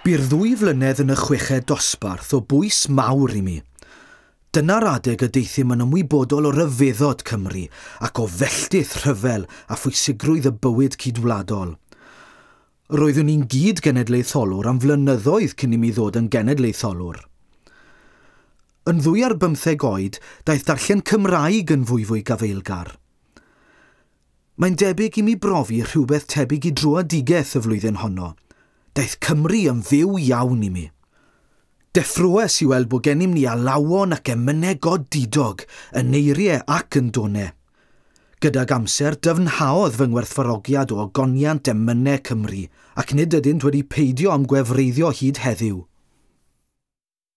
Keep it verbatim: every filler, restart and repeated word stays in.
Bu'r ddwy flynedd yn y chweched dosbarth o bwys mawr i mi. Dyna'r adeg y deuthum yn ymwybodol o ryfeddod Cymru ac o felltith rhyfel a phwysigrwydd y bywyd cydwladol. Roeddwn i'n gyd genedlaetholwr am flynyddoedd cyn i mi ddod yn genedlaetholwr. Yn ddwy ar bymtheg oed, daeth darllen Cymraeg yn fwyfwy gafaelgar. Mae'n debyg i mi brofi rhywbeth tebyg i dröedigaeth y flwyddyn honno. Daeth Cymru yn fyw iawn i mi. Deffroes i weld bod gennym ni alawon ac emynau godidog, yn eiriau ac yn donau. Gydag amser, dyfnhaodd fy ngwerthfawrogiad o ogoniant emynau Cymru, ac nid ydynt wedi peidio â'm gwefreiddio hyd heddiw.